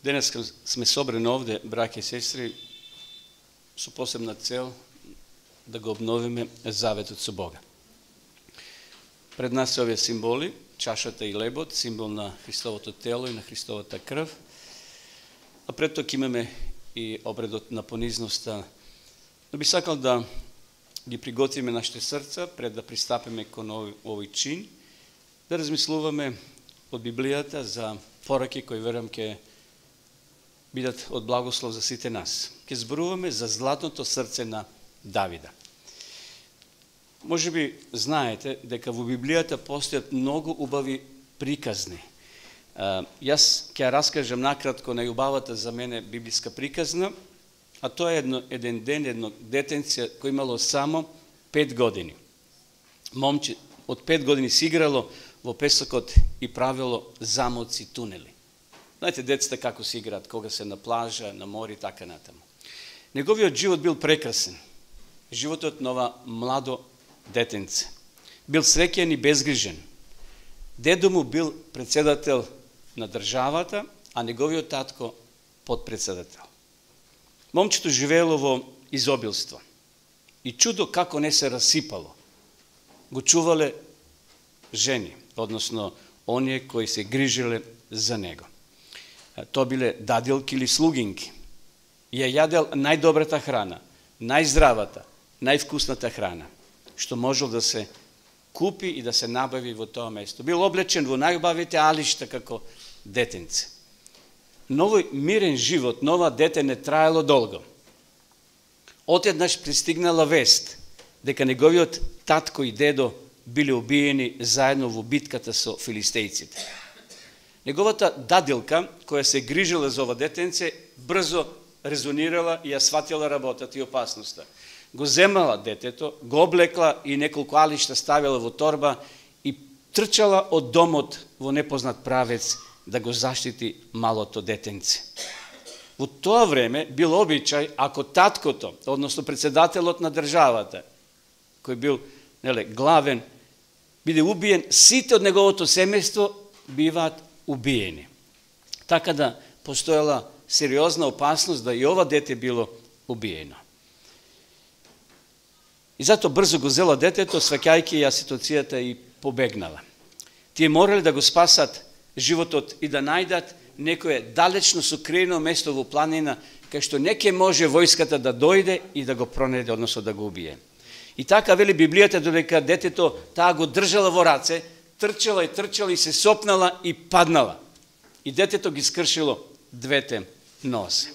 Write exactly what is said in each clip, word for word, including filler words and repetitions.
Денес сме собрани овде, браќа и сестри, со посебна цел да го обновиме заветот со Бога. Пред нас се овие символи, чашата и лебот, символ на Христовото тело и на Христовата крв. А пред тоа имаме и обредот на понизноста. Но би сакал да ги приготвиме нашите срца пред да пристапиме кон овој чин, да размислуваме од Библијата за пораки кои верувам ќе бидат од благослов за сите нас. Ке зборуваме за златното срце на Давида. Може би знаете дека во Библијата постојат многу убави приказни. Uh, јас ќе раскажам накратко најубавата за мене библиска приказна, а тоа е едно, еден ден, едно детенце кој имало само пет години. Момче од пет години си играло во песокот и правило замоци, тунели. Знаете, децата како се играат, кога се на плажа, на море и така натаму. Неговиот живот бил прекрасен. Животот на ова младо детенце. Бил среќен и безгрижен. Дедо му бил председател на државата, а неговиот татко подпредседател. Момчето живеело во изобилство. И чудо како не се расипало. Го чувале жени, односно оние кои се грижеле за него. Тоа биле дадилки или слугинки. Ја јадел најдобрата храна, најздравата, највкусната храна, што можел да се купи и да се набави во тоа место. Бил облечен во најубавите алишта како детенце. Новој мирен живот, нова дете не траело долго. Отеднаш пристигнала вест дека неговиот татко и дедо биле убиени заедно во битката со филистејците. Неговата дадилка, која се грижила за ова детенце, брзо резонирала и ја сватила работата и опасноста. Го земала детето, го облекла и неколку алишта ставила во торба и трчала од домот во непознат правец да го заштити малото детенце. Во тоа време бил обичај, ако таткото, односно председателот на државата, кој бил неле, главен, биде убиен, сите од неговото семејство биваат убиени. Така да постоела сериозна опасност да и ова дете било убиено. И зато брзо го зела детето, сваќајќи ја ситуацијата и побегнала. Тие морали да го спасат животот и да најдат некое далечно сокриено место во планина, кај што не ќе може војската да дојде и да го пронајде, односно да го убие. И така вели Библијата, додека детето таа го држала во раце, трчала и трчала и се сопнала и паднала. И детето ги скршило двете нозе.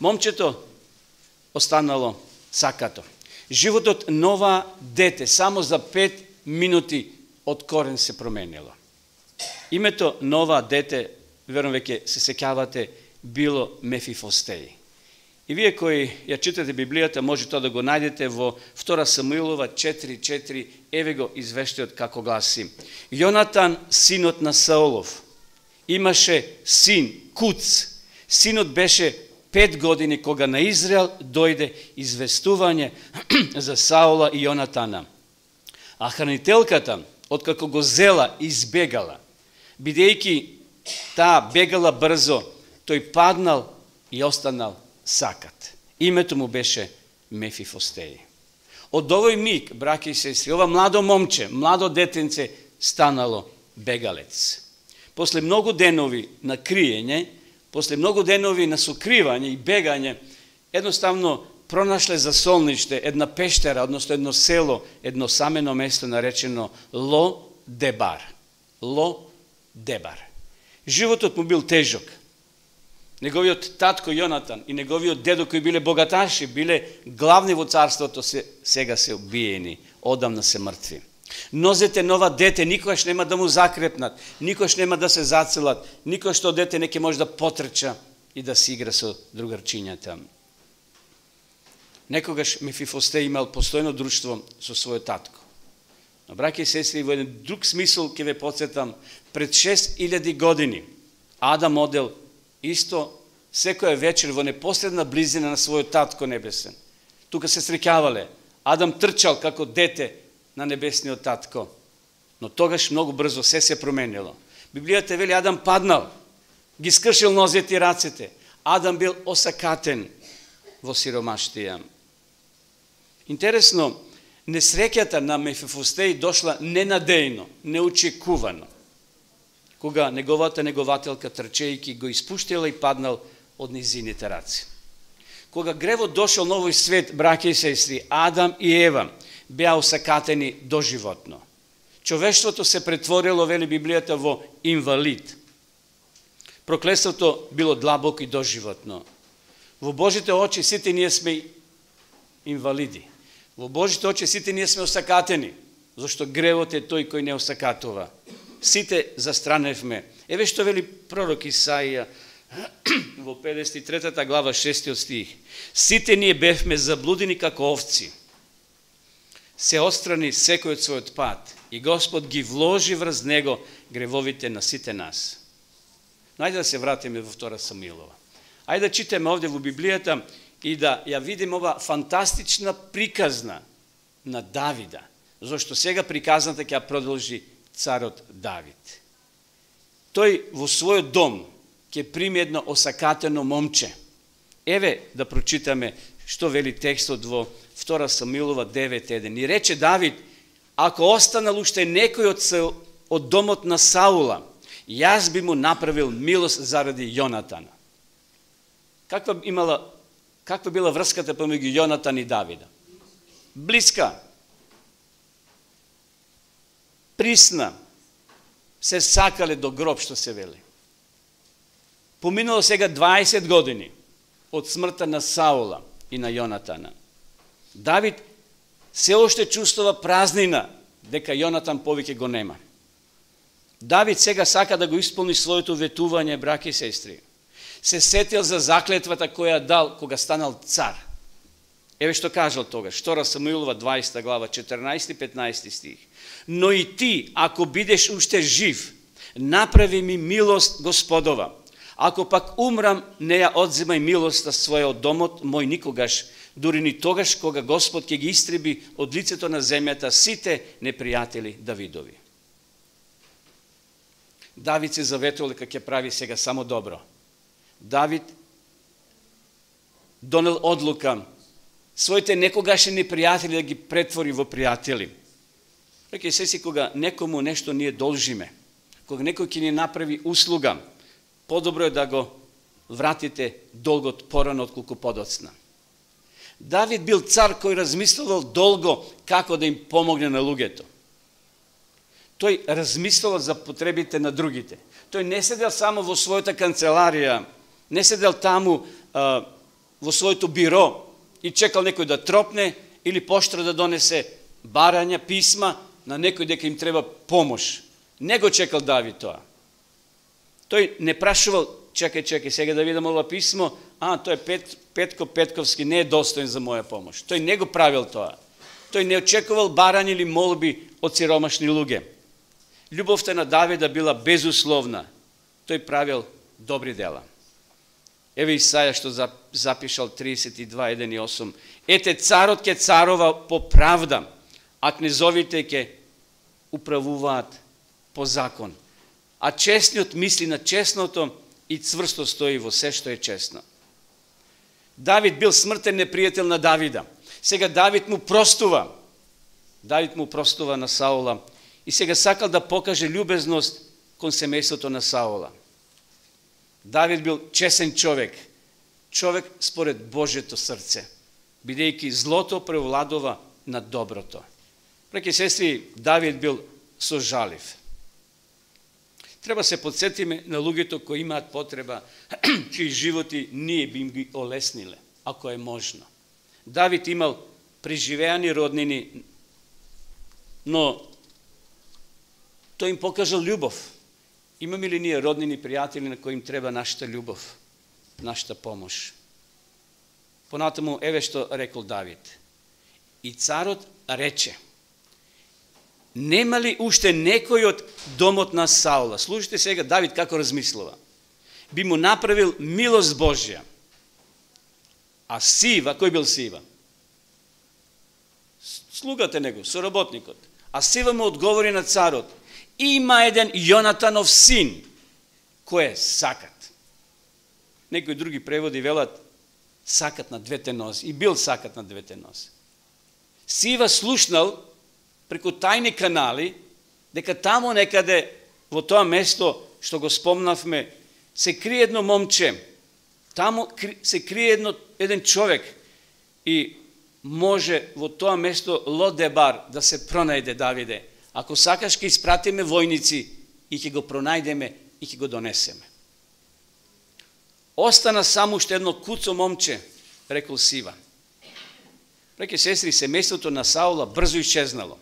Момчето останало сакато. Животот нова дете само за пет минути од корен се променило. Името нова дете, верувам веќе се сеќавате, било Мефифостеј. И вие кои ја читате Библијата, може тоа да го најдете во втора Самуилова четири четири, еве го извештајот како гласи. Јонатан, синот на Саолов, имаше син, Куц. Синот беше пет години кога на Израел дојде известување за Саола и Јонатана. А хранителката, откако го зела, избегала. Бидејќи таа бегала брзо, тој паднал и останал сакат. Името му беше Мефифостеј. Од овој миг, браќа и сестри, ова младо момче, младо детенце станало бегалец. После многу денови на криење, после многу денови на сокривање и бегање, едноставно пронашле за солниште една пештера, односно едно село, едно самено место наречено Ло Дебар. Ло Дебар. Животот му бил тежок. Неговиот татко Јонатан и неговиот дедо кои биле богаташи, биле главни во царството, се, сега се убиени, одамна се мртви. Нозете нова дете никогаш нема да му закрепнат, никогаш нема да се зацелат, никогаш тоа дете не ќе може да потрча и да се игра со другарчињата. Некогаш Мефифостеј имал постојно друштво со својот татко. Но, браќа и сестри, во еден друг смисол ќе ве потсетам, пред шест илјади години Адам одел исто секоја вечер во непосредна близина на својот татко небесен. Тука се среќавале. Адам трчал како дете на небесниот татко. Но тогаш многу брзо се се променило. Библијата вели Адам паднал. ги скршил нозете и рацете. Адам бил осакатен во сиромаштија. Интересно, несреќата на Мефифостеј дошла ненадејно, неочекувано, кога неговата негователка трчејки го испуштила и паднал од низините раци. Кога гревот дошол на овој свет, браќа и сестри, Адам и Ева беа осакатени доживотно. Човештвото се претворило, вели Библијата, во инвалид. Проклетството било длабоко и доживотно. Во Божите очи сите ние сме инвалиди. Во Божите очи сите ние сме осакатени, зашто гревот е тој кој не осакатува. Сите застраневме. Еве што вели пророк Исаија во педесет и трета глава шестиот стих. Сите ние бевме заблудени како овци. Се отстрани секој од својот пат и Господ ги вложи врз него гревовите на сите нас. Но ајде да се вратиме во втора Самуилова. Ајде да читаме овде во Библијата и да ја видиме ова фантастична приказна на Давида, зашто сега приказната ќе ја продолжи царот Давид. Тој во својот дом ќе прими едно осакатено момче. Еве да прочитаме што вели текстот во втора Самуилова девет еден. И рече Давид, ако останал уште некој од, од домот на Саула, јас би му направил милост заради Јонатана. Каква имала, каква била врската помеѓу Јонатан и Давида? Блиска. Присна. Се сакале до гроб, што се вели. Поминало сега дваесет години од смртта на Саула и на Јонатана. Давид се уште чувствува празнина дека Јонатан повеќе го нема. Давид сега сака да го исполни своето ветување, браќа и сестри. Се сетил за заклетвата која дал кога станал цар. Еве што кажал тогаш, втора Самуилова дваесета глава четрнаесети и петнаесети стих. Но и ти, ако бидеш уште жив, направи ми милост Господова. Ако пак умрам, не ја одземај милоста своја од домот мој никогаш, дури ни тогаш кога Господ ќе ги истреби од лицето на земјата сите непријатели Давидови. Давид се заветувал дека ќе прави сега само добро. Давид донел одлука своите некогашни непријатели да ги претвори во пријатели. Реке се си кога некому нешто ние должиме, кога некој ќе ни направи услуга, подобро е да го вратите долгот порано отколку подоцна. Давид бил цар кој размислувал долго како да им помогне на луѓето. Тој размислувал за потребите на другите. Тој не седел само во својата канцеларија, не седел таму а, во своето биро и чекал некој да тропне или поштра да донесе барања, писма на некој дека им треба помош. Не го чекал Давид тоа. Тој не прашувал, чекај, чекај, сега да видам ова писмо, а, тој е Пет, Петко Петковски, не е достоен за моја помош. Тој не го правил тоа. Тој не очекувал барања или молби од сиромашни луѓе. Љубовта на Давида била безусловна. Тој правил добри дела. Еве Исаја што запишал тридесет и два еден и осум. Ете, царот ќе царова по правда, а кнезовите ќе управуваат по закон. А честниот мисли на честното и цврсто стои во се што е честно. Давид бил смртен непријател на Давида. Сега Давид му простува. Давид му простува на Саула и сега сакал да покаже љубезност кон семејството на Саула. Давид бил чесен човек, човек според Божето срце, бидејќи злото превладува над доброто. Браќи и сестри, Давид бил сожалив. Треба се подсетиме на луѓето кои имаат потреба, чии животи ние би им ги олесниле, ако е можно. Давид имал преживеани роднини, но тој им покажал љубов. Имаме ли ние роднини пријатели на кои им треба нашата љубов, нашата помош? Понатаму, еве што рекол Давид. И царот рече, нема ли уште некој од домот на Саула? Слушайте сега Давид како размислува. Би му направил милост Божја. А Сива, кој бил Сива? Слугата него, соработникот. А Сива му одговори на царот. Има еден Јонатанов син, кој е сакат. Некои други преводи велат сакат на двете нозе. И бил сакат на двете нозе. Сива слушнал преку тајни канали дека тамо некаде во тоа место што го спомнавме се крие едно момче. Тамо се крие едно, еден човек и може во тоа место Лодебар да се пронајде Давиде. Ако сакаш ќе испратиме војници и ќе го пронајдеме и ќе го донесеме. Остана само уште едно куцо момче, рекол Сива. Браќи сестри, семејството на Саула брзо исчезнало.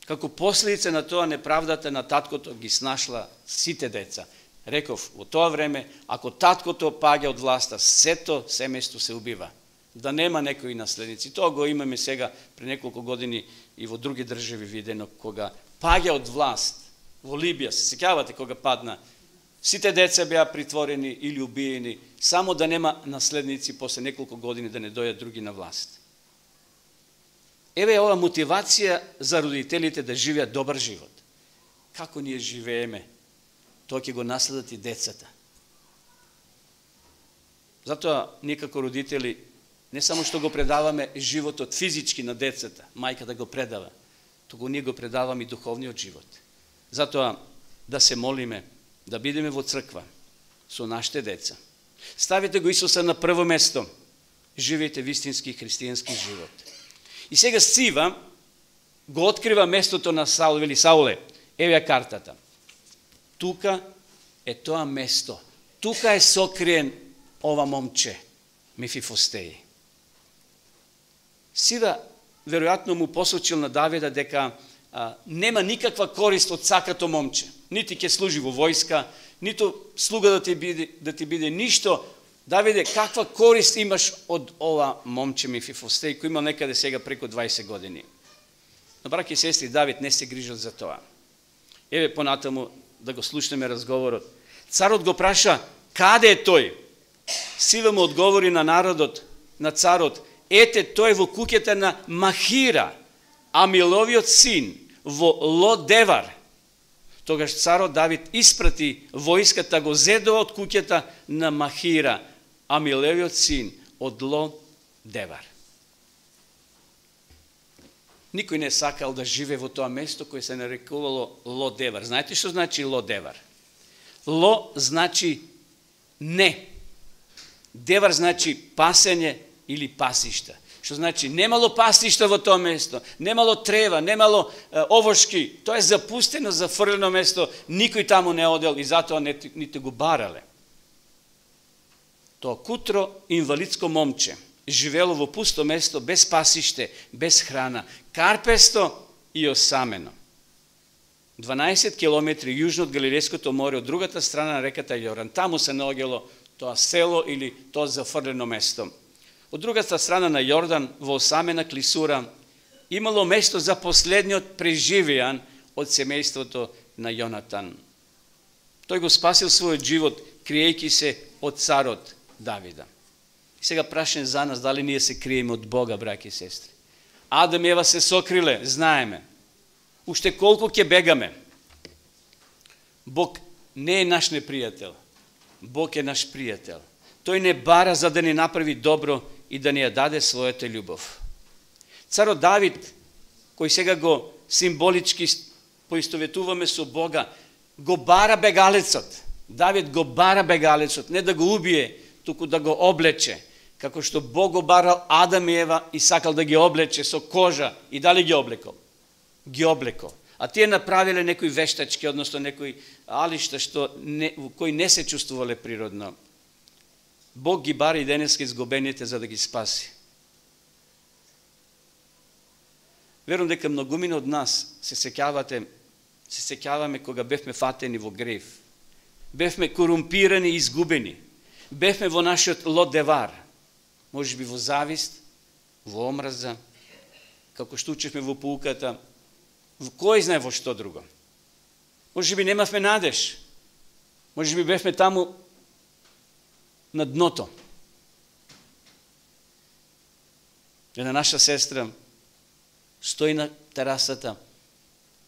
Како последица на тоа неправдата на таткото ги снашла сите деца. Реков, во тоа време, ако таткото паѓа од власта, сето семејство се убива. Да нема некои наследници. Тоа го имаме сега пред неколку години и во други држави видено, кога паѓа од власт. Во Либија, се сеќавате кога падна, сите деца беа притворени или убиени, само да нема наследници после неколку години да не дојдат други на власт. Еве е ова мотивација за родителите да живеат добар живот. Како ние живееме, тоа ќе го наследат и децата. Затоа ние како родители не само што го предаваме животот физички на децата, мајка да го предава, туку ние го предаваме и духовниот живот. Затоа да се молиме, да бидеме во црква со нашите деца. Ставите го Исуса на прво место. Живеете вистински христијански живот. И сега Сива го открива местото на Саул, вели Сауле, еве картата. Тука е тоа место. Тука е сокриен ова момче, Мефифостеј. Сива веројатно му посочил на Давида дека а, нема никаква корист од сакато момче. Нити ќе служи во војска, ниту слуга да ти биде, да ти биде ништо. Давиде, каква корист имаш од ова момче Мефифостеј, кој има некаде сега преку дваесет години? Но, браќи и сестри, Давид не се грижал за тоа. Еве понатаму да го слушнеме разговорот. Царот го праша, каде е тој? Сива му одговори на народот, на царот, ете, тој во куќата на Махира, Амиловиот син, во Лодевар. Тогаш царот Давид испрати војската, го зедо од куќата на Махира, Амилевиот син, од Лодевар. Никој не сакал да живее во тоа место кој се нарекувало Лодевар. Знаете што значи Лодевар? Ло значи не. Девар значи пасење или пасишта. Што значи немало пасишта во тоа место, немало трева, немало е, овошки. Тоа е запустено, зафрлено место, никој таму не одел и затоа не, ните го барале. Тоа кутро инвалидско момче живело во пусто место, без пасиште, без храна, карпесто и осамено. дванаесет километри јужно од Галилејското море, од другата страна на реката Јордан. Таму се наоѓало тоа село или тоа зафрлено место. Од другата страна на Јордан, во осамена клисура, имало место за последниот преживеан од семејството на Јонатан. Тој го спасил својот живот, криејќи се од царот Давида. И сега прашање за нас, дали ние се криеме од Бога, браќи и сестри? Адам и Ева се сокриле, знаеме. Уште колку ќе бегаме? Бог не е наш непријател. Бог е наш пријател. Тој не бара за да ни направи добро и да ни ја даде својата љубов. Царот Давид, кој сега го символички поистоветуваме со Бога, го бара бегалецот. Давид го бара бегалецот, не да го убие, туку да го облече, како што Бог го барал Адам и Ева и сакал да ги облече со кожа. И дали ги облекол? Ги облекол. А тие направиле некои вештачки, односно некои алишта што не, кои не се чувствувале природно. Бог ги бара и денеска изгубените за да ги спаси. Верувам дека многумина од нас се сеќавате, се сеќаваме кога бевме фатени во грев. Бевме корумпирани и изгубени. Бевме во нашиот Лодевар. Може би во завист, во омраза, како што учевме во поуката, во кој знае во што друго. Може би немавме надеж. Може би бевме таму на дното. Една наша сестра стои на терасата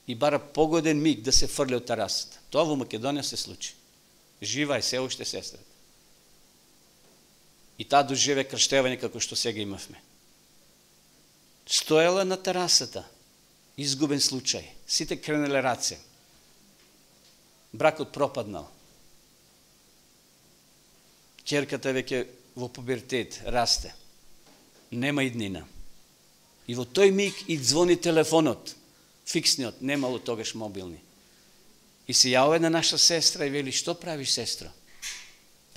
и бара погоден миг да се фрли од терасата. Тоа во Македонија се случи. Жива е се уште сестрата. и таа доживе крштевање како што сега имавме. Стоела на терасата, изгубен случај, сите кренеле раце. Бракот пропаднал. Ќерката веќе во пубертет расте. Нема иднина. И во тој миг и звони телефонот, фиксниот, немало тогаш мобилни. И се јавува една наша сестра и вели: што правиш, сестро?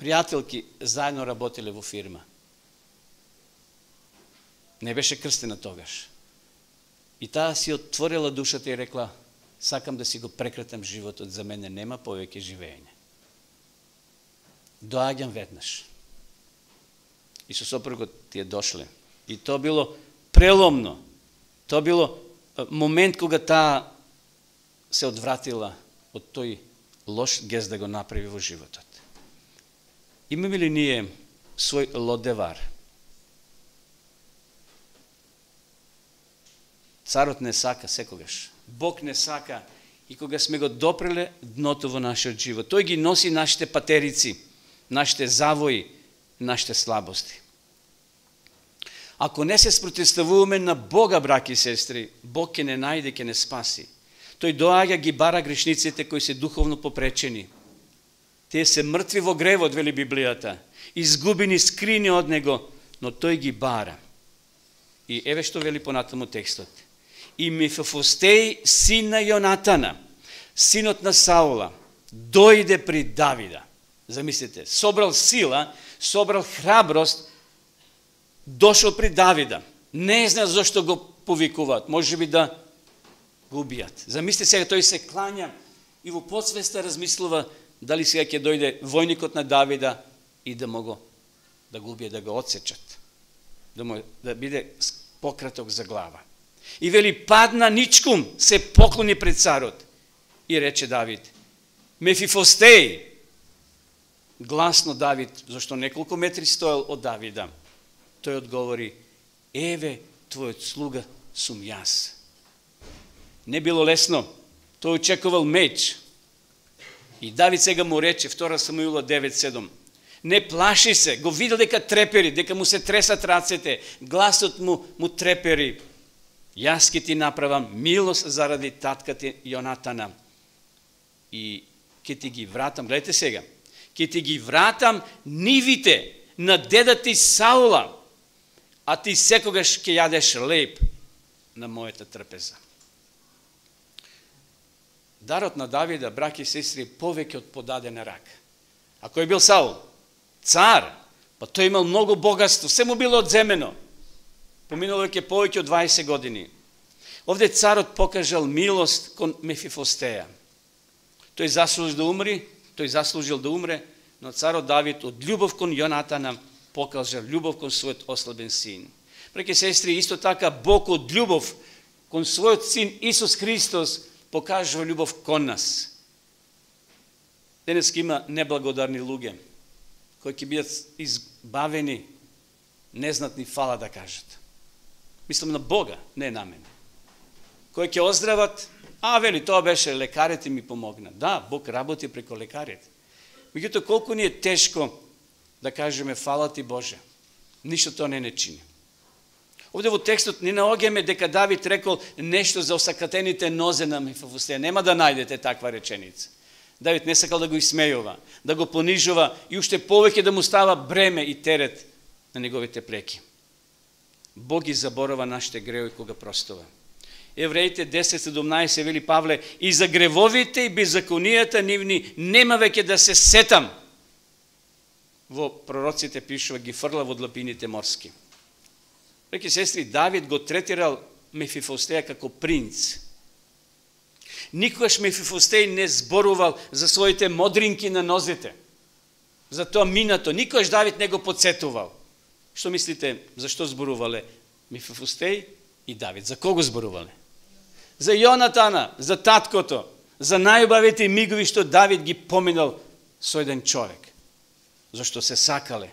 Пријателки заедно работеле во фирма. Не беше крстена тогаш. И таа си отворила душата и рекла: сакам да си го прекратам животот, за мене нема повеќе живење. Доаѓам веднаш. И со сопругот тие дошле. И тоа било преломно. Тоа било момент кога таа се одвратила од тој лош гест да го направи во животот. Имаме ли ние свој Лодевар? Царот не сака секогаш. Бог не сака и кога сме го допреле дното во нашиот живот. Тој ги носи нашите патерици, нашите завои, нашите слабости. Ако не се спротивставуваме на Бога, браки и сестри, Бог ќе не најде, ќе не спаси. Тој доаѓа, ги бара грешниците кои се духовно попречени. Тие се мртви во гревот, вели Библијата, изгубени, скрини од Него, но тој ги бара. И еве што вели понатаму текстот. И Мефифостеј, син на Јонатана, синот на Саула, дојде при Давида. Замислите, собрал сила, собрал храброст, дошол при Давида. Не знае зашто го повикуваат, може би да го убијат. Замислите сега, тој се клања и во подсвеста размислува дали сега ќе дојде војникот на Давида и да му го да го убие, да го отсечат. Да му да биде пократок за глава. И вели: падна ничкум, се поклони пред царот. И рече Давид: Мефифостеј. Гласно Давид, зашто неколку метри стоел од Давида. Тој одговори: еве твојот слуга сум јас. Не било лесно. Тој очекувал меч. И Давид сега му рече, втора Самуила девет седум, не плаши се, го видел дека трепери, дека му се тресат рацете, гласот му му трепери. Јас ќе ти направам милост заради татката Јонатана. И ќе ти ги вратам, гледайте сега, ќе ти ги вратам нивите на дедата ти Саула, а ти секогаш ќе јадеш леб на мојата трпеза. Дарот на Давида, браќи и сестри, повеќе од подадена рак. А кој бил Саул? Цар. Па тој имал многу богатство, се му било одземено. Поминало веќе повеќе од дваесет години. Овде царот покажал милост кон Мефифостеја. Тој заслужил да умри, тој заслужил да умре, но царот Давид од љубов кон Јонатана покажал љубов кон својот ослабен син. Браќи и сестри, исто така Бог од љубов кон својот син Исус Христос покажува љубов кон нас. Денес има неблагодарни луѓе кои ќе бидат избавени, незнатни фала да кажат. Мислам на Бога, не на мене. Кои ќе оздрават, а вели, тоа беше, лекарите ми помогна. Да, Бог работи преко лекарите. Меѓутоа, колку ни е тешко да кажеме фала ти Боже. Ништо тоа не не чини. Овде во текстот не наоѓаме дека Давид рекол нешто за осакатените нозе на Мефифостеја. Нема да најдете таква реченица. Давид не сакал да го исмејува, да го понижува и уште повеќе да му става бреме и терет на неговите плеки. Бог ги заборава нашите греови кога простува. Евреите десет седумнаесет вели Павле: и за гревовите и беззаконијата нивни нема веќе да се сетам. Во пророците пишува, ги фрла во длабините морски. Реки сестри, Давид го третирал Мефифостеја како принц. Никогаш Мефифостеј не зборувал за своите модринки на нозете. За тоа минато. Никогаш Давид не го подсетувал. Што мислите, зашто зборувале Мефифостеј и Давид? За кого зборувале? За Јонатана, за таткото, за најубавите мигови што Давид ги поминал со еден човек. Зашто се сакале.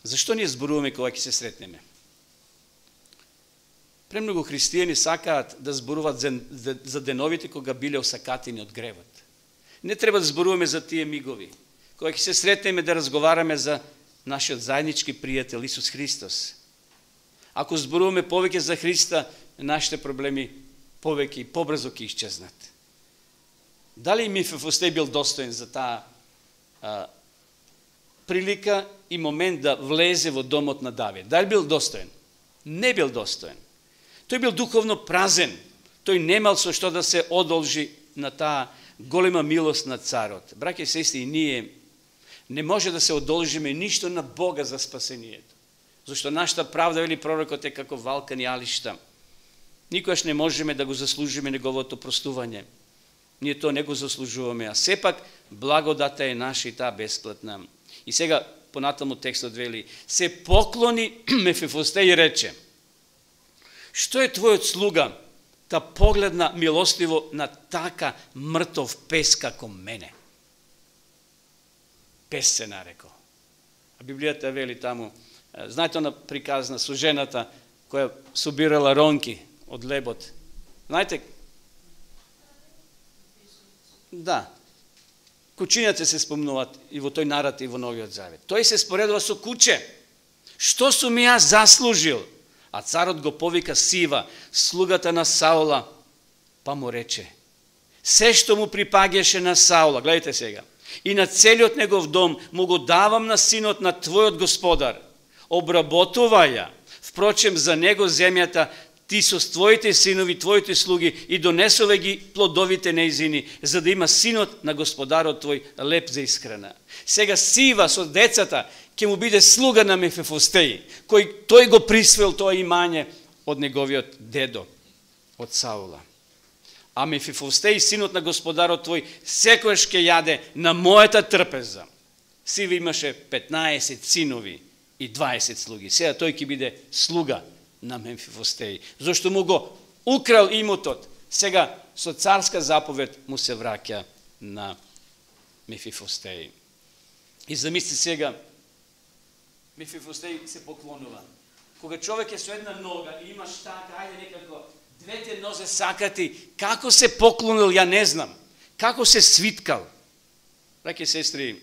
Зашто ние зборуваме кога ќе се сретнеме? Премногу христијани сакаат да зборуваат за, за, за деновите кога биле осакатени од гревот. Не треба да зборуваме за тие мигови. Кога ќе се сретнеме да разговараме за нашиот заеднички пријател Исус Христос. Ако зборуваме повеќе за Христа, нашите проблеми повеќе и побрзо ќе исчезнат. Дали Мефифостеј бил достоен за таа а, прилика и момент да влезе во домот на Давид? Дали бил достоен? Не бил достоен. Тој бил духовно празен. Тој немал со што да се одолжи на таа голема милост на царот. Браќи и сестри, и ние не може да се одолжиме ништо на Бога за спасението. Зашто нашата правда, вели пророкот, е како валкани алишта. Никогаш не можеме да го заслужиме неговото простување. Ние тоа не го заслужуваме, а сепак благодата е наша и таа бесплатна. И сега понатаму текстот вели: се поклони Мефифостеј и рече: што е твојот слуга, та погледна милостиво на така мртов пес како мене? Пес се нарекол. А Библијата вели таму, знаете она приказна со жената која собирала ронки од лебот. Знаете? Да. Кучињата се спомнуваат и во тој наратив во Новиот Завет. Тој се споредува со куче. Што сум јас заслужил? А царот го повика Сива, слугата на Саула, па му рече: се што му припаѓаше на Саула, гледайте сега, и на целиот негов дом му го давам на синот на твојот господар. Обработувај ја, впрочем за него земјата, ти со твоите синови, твоите слуги, и донесове ги плодовите неизини, за да има синот на господарот твој леп за исхрана. Сега Сива со децата ќе му биде слуга на Мефифостеј, кој тој го присвоил тоа имање од неговиот дедо, од Саула. А Мефифостеј, синот на господарот твој, секојаш ќе јаде на мојата трпеза. Сива имаше петнаесет синови и дваесет слуги. Сега тој ќе биде слуга на Мефифостеј, зашто му го украл имотот. Сега со царска заповед му се враќа на Мефифостеј. И замисли сега, Мефифостеј се поклонува. Кога човек е со една нога и имаш така, ајде некако, двете нозе сакати, како се поклонил, ја не знам. Како се свиткал. Браќи сестри,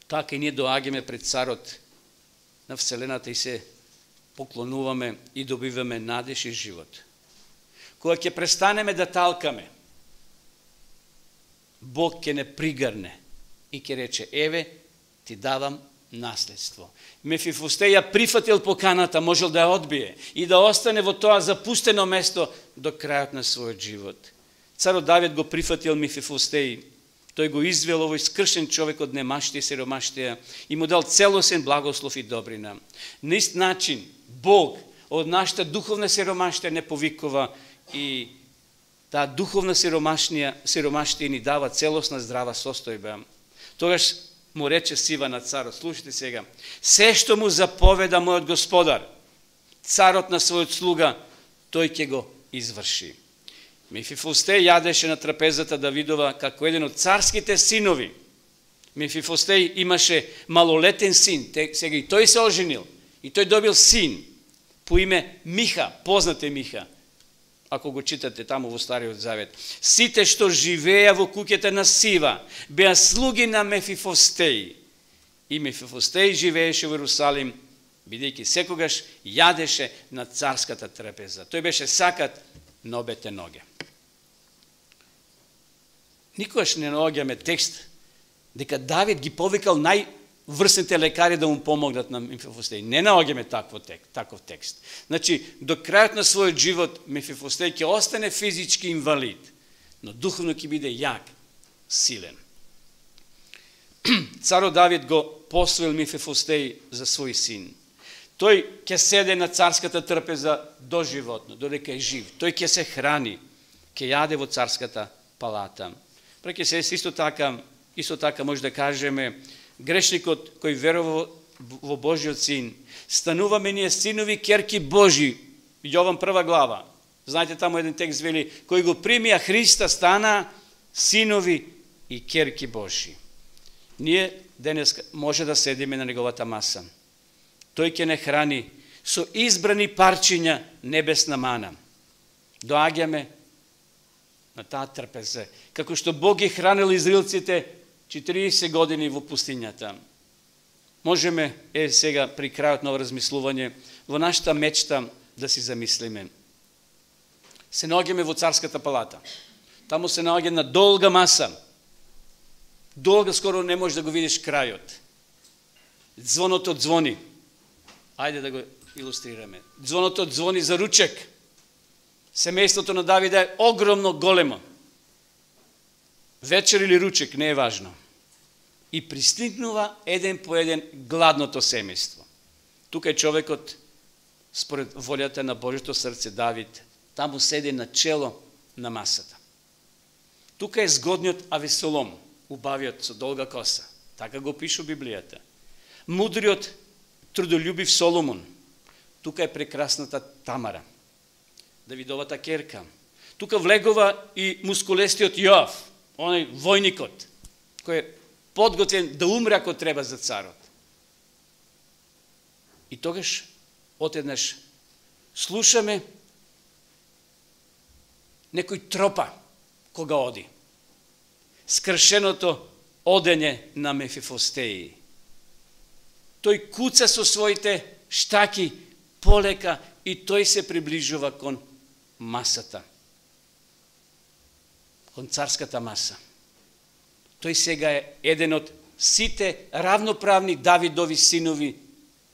така и ние доаѓаме пред царот на вселената и се поклонуваме и добиваме надеж и живот. Кога ќе престанеме да талкаме, Бог ќе не пригрне и ќе рече: еве, ти давам наследство. Мефифостеј ја прифатил поканата, можел да ја одбие и да остане во тоа запустено место до крајот на својот живот. Царот Давид го прифатил Мефифостеј. Тој го извел овој скршен човек од немаштија и сиромаштија и му дал целосен благослов и добрина. На ист начин Бог од нашата духовна сиромаштија не повикува и таа духовна сиромаштија, сиромаштија ни дава целосна здрава состојба. Тогаш му рече Сива на царот: слушайте сега, се што му заповеда мојот господар, царот на својот слуга, тој ќе го изврши. Мефифостеј јадеше на трапезата Давидова како еден од царските синови. Мефифостеј имаше малолетен син, сега и тој се оженил, и тој добил син по име Миха, познате Миха, ако го читате таму во Стариот Завет. Сите што живееа во куќата на Сива беа слуги на Мефифостеј. И Мефифостеј живееше во Ерусалим, бидејќи секогаш јадеше на царската трапеза. Тој беше сакат на обете ноге. Никогаш не наоѓаме текст дека Давид ги повикал најврсните лекари да му помогнат на Мефифостеј. Не наоѓаме таков текст, таков текст. Значи, до крајот на својот живот Мефифостеј ќе остане физички инвалид, но духовно ќе биде јак, силен. Царот Давид го посвоил Мефифостеј за свој син. Тој ќе седе на царската трпеза доживотно, додека е жив. Тој ќе се храни, ќе јаде во царската палата. Преќе се исто така, исто така може да кажеме, грешникот кој верува во Божиот син, стануваме ние синови керки Божи. Јован прва глава. Знаете, таму еден текст вели: кој го примија Христа стана синови и керки Божи. Ние денес може да седиме на неговата маса. Тој ќе не храни со избрани парчиња небесна мана. Доаѓаме на таа трпеза, како што Бог ги хранил израелците четириесет години во пустињата. можеме, е сега при крајот на размислување, во нашата мечта да си замислиме. Се наоѓаме во царската палата. Таму се наоѓа на долга маса. Долга, скоро не можеш да го видиш крајот. Звоното звони. Ајде да го илустрираме. Звоното звони за ручек. Семејството на Давид е огромно, големо. Вечер или ручек, не е важно. И пристигнува еден по еден гладното семејство. Тука е човекот, според волјата на Божјото срце, Давид, таму седи на чело на масата. Тука е згодниот Авесолом, убавиот со долга коса. Така го пише Библијата. Мудриот, трудолюбив Соломон. Тука е прекрасната Тамара, Давидовата керка. Тука влегува и мускулестиот Јоав, оној војникот, кој е подготвен да умре ако треба за царот. И тогаш, отеднаш, слушаме некој тропа кога оди. Скршеното одење на Мефифостеи. Тој куца со своите штаки полека и тој се приближува кон масата. Кон царската маса. Тој сега е еден од сите равноправни Давидови синови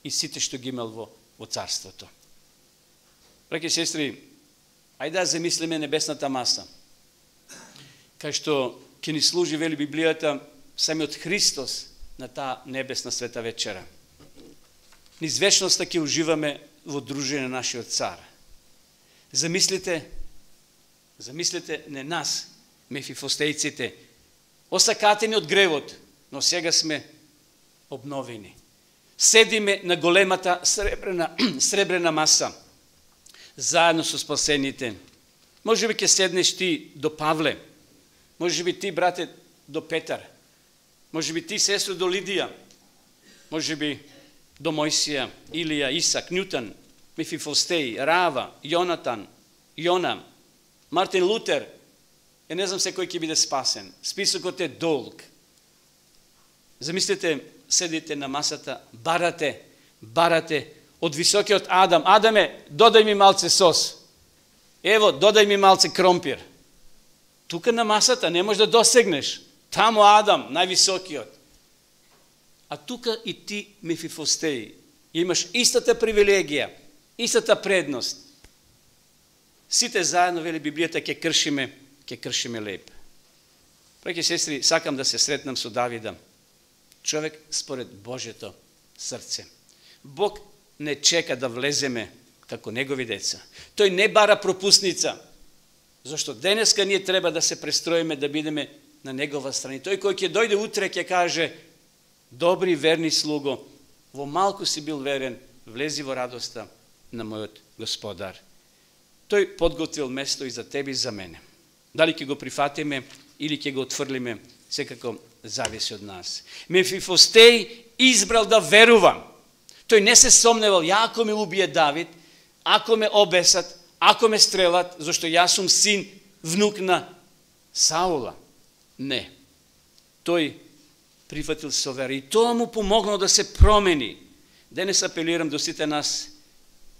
и сите што ги имал во, во царството. Браќи и сестри, ајде да замислиме небесната маса. Кај што ќе ни служи, вели Библијата, самиот Христос на таа небесна света вечера. Низ вечноста ќе уживаме во дружење на нашиот цар. Замислите, замислите не нас, мефифостејците, осакатени од гревот, но сега сме обновени. Седиме на големата сребрена, сребрена маса, заедно со спасените. Може би ќе седнеш ти до Павле, може би ти, брате, до Петар, може би ти, сестро, до Лидија, може би до Мојсија, Илија, Исак, Нјутон, Мефифостеј, Рава, Јонатан, Јона, Мартин Лутер. Е, не знам се кој ќе биде спасен. Списокот е долг. Замислете, седите на масата, барате, барате од високиот Адам. Адаме, додај ми малце сос. Ево, додај ми малце кромпир. Тука на масата не можеш да досегнеш. Тамо Адам, највисокиот. А тука и ти, Мефифостеј, имаш истата привилегија, истата предност. Сите заедно, вели Библијата, ќе кршиме, ќе кршиме леп. Браќи и сестри, сакам да се сретнам со Давида. Човек според Божјето срце. Бог не чека да влеземе како негови деца. Тој не бара пропусница. Зашто денеска ние треба да се престроиме, да бидеме на негова страна. Тој кој ќе дојде утре ќе каже: добри, верни слуго, во малку си бил верен, влези во радоста на мојот Господар. Тој подготвил место и за тебе и за мене. Дали ќе го прифатиме или ќе го отфрлиме, секако зависи од нас. Мефифостеј избрал да верува. Тој не се сомневал: ако ме убие Давид, ако ме обесат, ако ме стрелат, зашто јас сум син, внук на Саула. Не. Тој прифатил со вера и тоа му помогнало да се промени. Денес апелирам до сите нас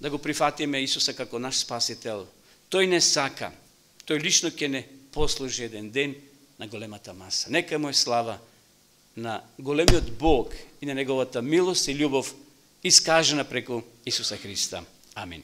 да го прифатиме Исуса како наш спасител. Тој не сака. Тој лично ќе не послужи еден ден на големата маса. Нека му е слава на големиот Бог и на неговата милост и љубов искажена преку Исуса Христа. Амин.